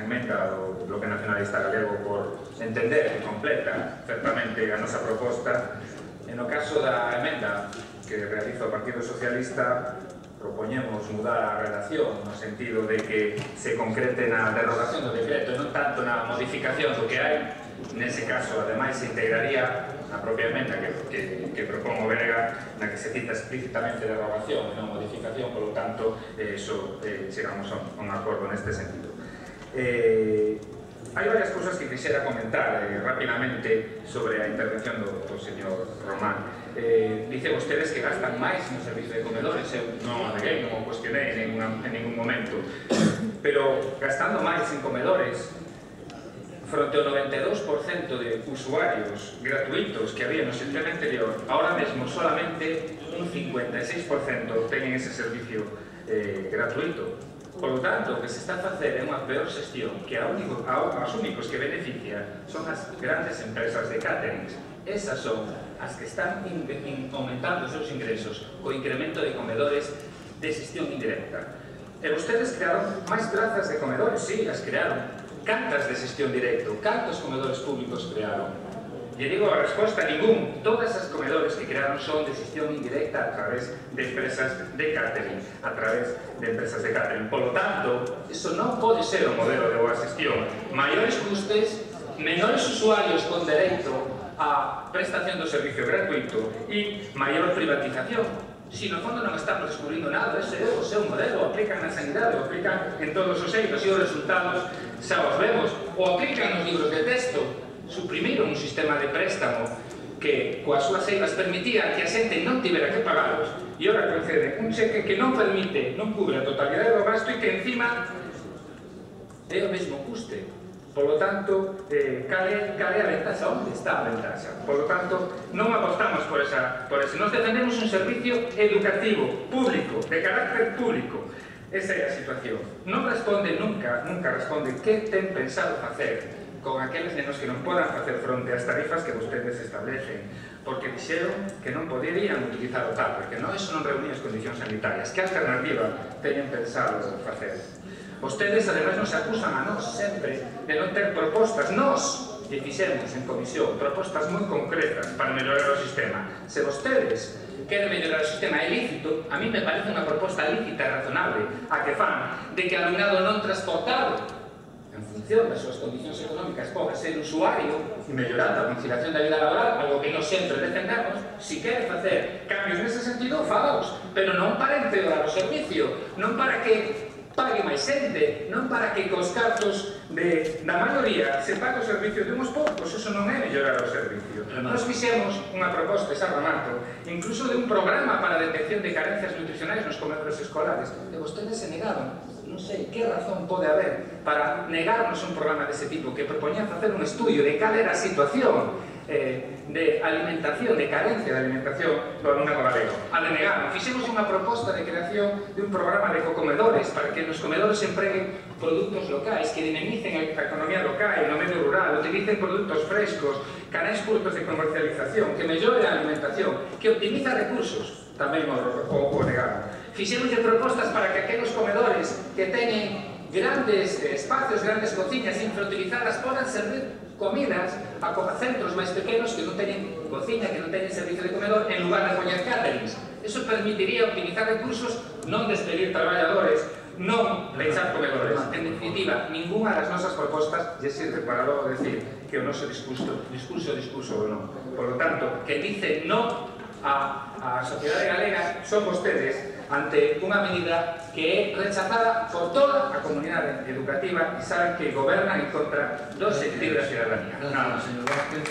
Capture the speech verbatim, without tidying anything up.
emenda do Bloque Nacionalista Galego por entender que completa certamente a nosa proposta. E no caso da emenda que realiza o Partido Socialista, propoñemos mudar a redacción no sentido de que se concrete na derogación do decreto e non tanto na modificación do que hai. Nese caso, ademais, se integraría a propia emenda que, que, que propón o Berega, na que se cita explícitamente derogación e non modificación, polo tanto, eh, so, eh, chegamos a un, a un acordo neste sentido. Eh, hai varias cousas que quixera comentar eh, rapidamente sobre a intervención do, do señor Román. Eh, dice vostedes que gastan máis no servicio de comedores, eu non o neguei, non o cuestionei en, ninguna, en ningún momento, pero gastando máis en comedores, fronte ao noventa e dous por cento de usuarios gratuitos que había no sistema anterior, ahora mesmo solamente un cincuenta e seis por cento teñen ese servicio eh, gratuito. Por lo tanto, o que se está a facer é unha peor xestión, que a único, a, aos únicos que beneficia son as grandes empresas de caterings. Esas son as que están in, in, aumentando os seus ingresos co incremento de comedores de xestión indirecta. E vostedes crearon máis plazas de comedores, sí, as crearon. Cantas de xestión directo? Cantos comedores públicos crearon? E digo a resposta, ningún. Todas as comedores que crearon son de xestión indirecta a través de empresas de catering, a través de empresas de catering. Por lo tanto, eso non pode ser o modelo de boa xestión. Maiores custes, menores usuarios con dereito a prestación do servicio gratuito e maior privatización. Si no fondo non estamos descubrindo nada, ese é o seu modelo, o aplican na sanidade, o aplican en todos os eidos e os resultados xa os vemos, o aplican nos libros de texto. Suprimiron un sistema de préstamo que coas súas eidas permitía que a xente non tivera que pagalos e ora concede un cheque que non permite, non cubre a totalidade do gasto e que encima é o mesmo custe. Por lo tanto, eh, cale, cale a ventaxa, onde está a ventaxa? Por lo tanto, non apostamos por esa, por eso. Nos defendemos un servicio educativo, público, de carácter público. Esa é a situación. Non responde nunca, nunca responde que ten pensado facer con aqueles nenos que non podan facer fronte ás tarifas que vostedes establecen, porque dixeron que non poderían utilizar o T A P, porque non, eso non reunía as condicións sanitarias. Que alternativa teñen pensado facer? Vostedes, ademais, nos acusan a nós sempre de non ter propostas. Nós, que fixemos en comisión, propostas moi concretas para mellorar o sistema. Se vostedes queren mellorar o sistema ilícito, a mí me parece unha proposta lícita e razonable a que fan de que alumnado non transportado en función das súas condicións económicas poda ser usuario e mellorando a conciliación da vida laboral, algo que non sempre defendamos. Si quere facer cambios nese sentido, fagaos, pero non para empeorar o servicio, non para que pague máis xente, non para que cos cartos de, da maioría se pague o servicio de uns poucos. Eso non é mellorar o servicio. Nos fixemos unha proposta, esa remato, incluso de un programa para a detección de carencias nutricionais nos comedores escolares, e vostedes se negaron. Non sei que razón pode haber para negarnos un programa dese tipo que propoñía facer un estudio de cal era a situación eh, de alimentación, de carencia de alimentación do alumnado galego. A denegarnos, fixemos unha proposta de creación de un programa de cocomedores para que nos comedores empreguen produtos locais, que dinamicen a economía local, no medio rural, utilicen produtos frescos, canais curtos de comercialización, que mellore a alimentación, que optimiza recursos, tamén o, o, o negaron. Fixemos de propostas para que aqueles comedores que teñen grandes eh, espacios, grandes cociñas infrautilizadas podan servir comidas a centros máis pequenos que non teñen cociña, que non teñen servicio de comedor, en lugar de poñer caterings. Eso permitiría optimizar recursos, non despedir traballadores, non pechar comedores. En definitiva, ninguna das nosas propostas lle sirve para logo decir que o noso discurso, discurso, discurso ou non. Por lo tanto, que dice non a, a sociedade galega son vostedes ante unha medida que é rechazada por toda a comunidade educativa e saben que gobernan en contra dos equilibrios da cidadanía. Gracias, señor Vázquez.